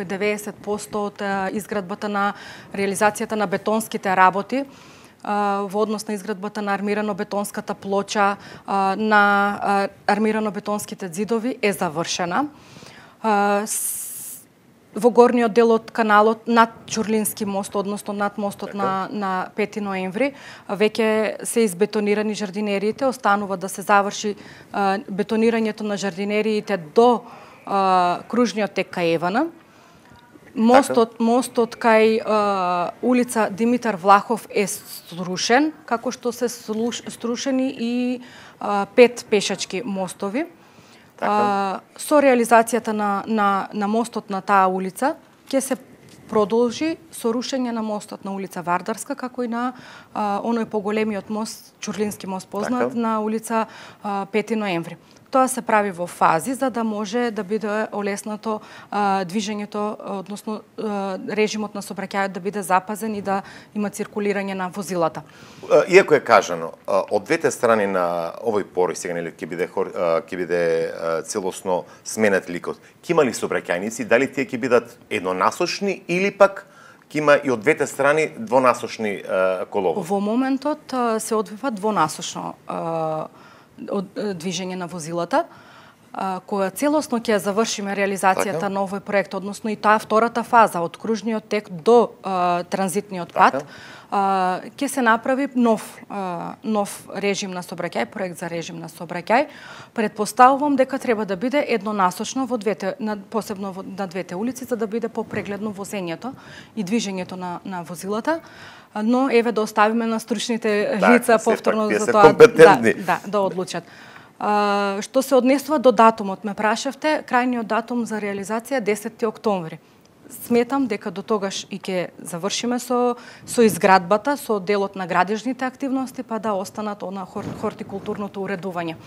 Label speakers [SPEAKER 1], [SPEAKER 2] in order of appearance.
[SPEAKER 1] околу 90% од изградбата на реализацијата на бетонските работи во однос на изградбата на армирано-бетонската плоча, на армирано-бетонските ѕидови е завршена. Во горниот дел од каналот над Чурлински мост, односно над мостот на 5 ноември, веќе се избетонирани жардинериите, останува да се заврши бетонирањето на жардинериите до кружниот тек кај Евана. Мостот кај улица Димитар Влахов е срушен, како што се срушени и 5 пешачки мостови. Со реализацијата на мостот на таа улица ќе се продолжи со рушење на мостот на улица Вардарска, како и на оној поголемиот мост, Чурлински мост познат, на улица 5 ноември. Тоа се прави во фази за да може да биде олеснато движењето, односно режимот на сообраќајот да биде запазен и да има циркулирање на возилата.
[SPEAKER 2] Иако е кажано, од двете страни на овој порој сега нели ќе биде целосно сменет ликот. Ќе има ли сообраќајници, дали тие ќе бидат еднонасочни или пак ќе има и од двете страни двонасочни коловози?
[SPEAKER 1] Во моментот се одвива двонасочно движење на возилата, кога целосно ќе завршиме реализацијата на овој проект, односно и таа втората фаза од кружниот тек до транзитниот пат, ќе се направи нов режим на сообраќај, проект за режим на сообраќај. Предпоставувам дека треба да биде еднонасочно во двете, посебно на двете улици, за да биде попрегледно возењето и движењето на возилата. Но еве да оставиме на стручните лица повторно за тоа да одлучат. Што се однесува до датумот, ме прашавте, крајниот датум за реализација 10 октомври. Сметам дека до тогаш и ќе завршиме со изградбата, со делот на градежните активности, па да останат на хортикултурното уредување.